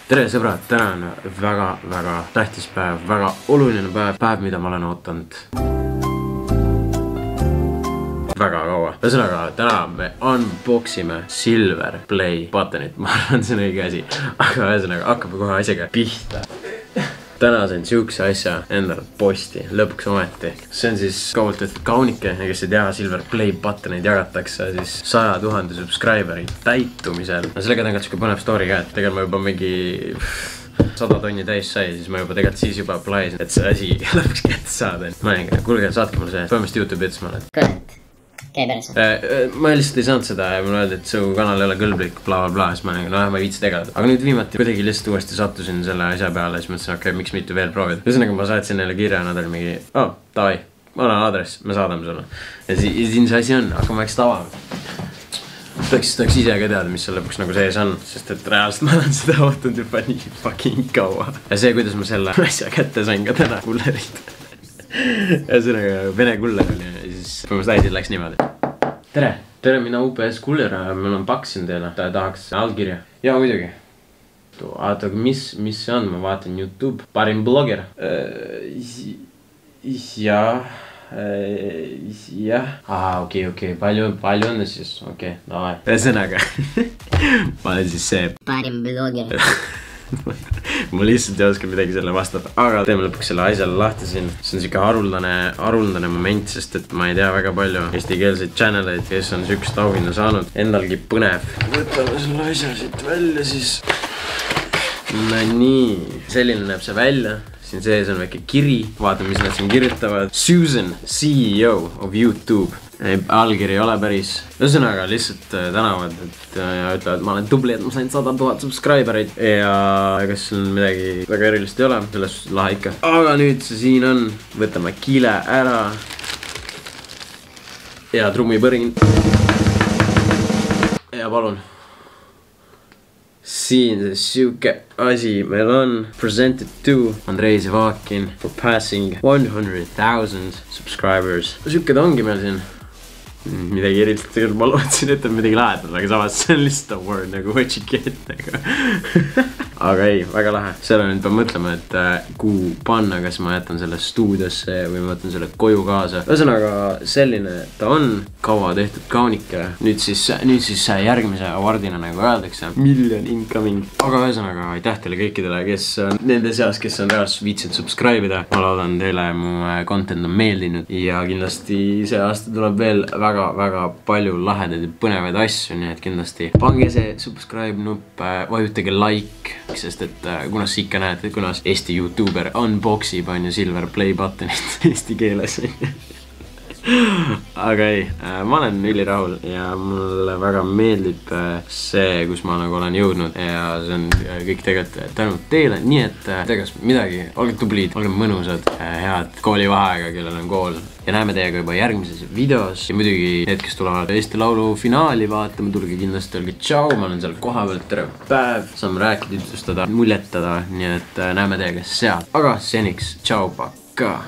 tere sõbrad, täna on väga tähtis päev, väga oluline päev, mida ma olen ootanud väga kaua. Ühesõnaga, täna me unboxime Silver Play buttonit, ma arvan, see on õige asi. Aga ühesõnaga, hakkab kohe asjaga pihta. Täna sain siukse asja endale posti, lõpuks ometi. See on siis kaugelt tehtud kaunike, ja kes ei tea, Silver Play buttonid jagatakse siis 100 000 subscriberi täitumisel. No sellega tegelikult siuke põnev story ka, et tegelikult ma juba mingi 100 tonni täis sai, siis ma juba tegelikult siis juba plaisin, et see asi lõpuks kätte saada. Ma olin, kuulge, saatke mulle see, põhimõtteliselt YouTube ütles mulle, et kõnet, käi päris. ma lihtsalt ei saanud seda ja mulle öeldi, et su kanal ei ole kõlblik, bla. Siis ma olin, no ma ei viitsi tegeleda. Aga nüüd viimati kuidagi lihtsalt uuesti sattusin selle asja peale, siis mõtlesin, okei, miks mitte veel proovida. Ühesõnaga ma saatsin neile kirja, nad oli mingi, davai, ma olen aadress, me saadame sulle. Ja siin see asi on, hakkame väikselt avama. Tahaks ise ka teada, mis seal lõpuks nagu sees on, sest et reaalselt ma olen seda ootanud juba nii fucking kaua. Ja see, kuidas ma selle asja kätte sain ka täna kullerit. Ühesõnaga Vene kuller oli ja siis põhimõtteliselt äidil läks niimoodi. Tere, mina UPS kuller, mul on paksin teile, tahaks allkirja. Jaa, muidugi. Aga mis see on, ma vaatan YouTube, parim blogger. Jah. Okei, palju on siis, okei, davai. Ühesõnaga, ma olen siis see Parim blogger. Ma lihtsalt ei oska midagi selle vastata, aga teeme lõpuks selle asjale lahti siin. See on siuke haruldane moment, sest et ma ei tea väga palju eestikeelseid channeleid, kes on siukest auhinna saanud. Endalgi põnev. Võtame selle asja siit välja siis. No nii, selline näeb see välja. Siin sees on väike kiri, vaatame, mis nad siin kirjutavad. Susan, CEO of YouTube. Allkiri ei ole päris. Ühesõnaga lihtsalt tänavad, et ütlevad, ma olen tubli, et ma sain 100 000 subscribereid. Ja kas siin midagi väga erilist ei ole, selles lahe ikka. Aga nüüd see siin on, võtame kile ära. Ja trummipõrin. Ja palun. Siin see siuke asi meil on. Presented to Andrei Zevakin for passing 100,000 subscribers. Siuke ta ongi meil siin. Midagi erilist, ma lootsin, et on midagi lahetada, aga samas see on lihtsalt award nagu what you get. Aga ei, väga lahe. Selle nüüd pean mõtlema, et kuhu panna, kas ma jätan selle stuudiosse või ma võtan selle koju kaasa. Ühesõnaga selline ta on, kaua tehtud kaunike. Nüüd siis järgmise awardina nagu öeldakse, million incoming. Aga ühesõnaga aitäh teile kõikidele, kes on nende seas, kes on reaalselt viitsinud subscribe'ida. Ma loodan teile mu content on meeldinud ja kindlasti see aasta tuleb veel väga palju lahedaid ja põnevaid asju, nii et kindlasti pange see subscribe nupp, vajutage like, sest et kunas ikka näed, et kunas Eesti YouTuber unboxib on ju Silver Play buttonit eesti keeles. Aga ei, ma olen ülirahul ja mulle väga meeldib see, kus ma nagu olen jõudnud ja see on kõik tegelikult tänud teile, nii et tegelikult midagi, olge tublid, olge mõnusad, head koolivaheaega, kellel on kool ja näeme teiega juba järgmises videos ja muidugi need, kes tulevad Eesti Laulu finaali vaatama, tulge kindlasti, olge tšau, ma olen seal koha peal, tere päev, saame rääkida, ütlustada, muljetada, nii et näeme teiega seal, aga seniks, tšau, pakka!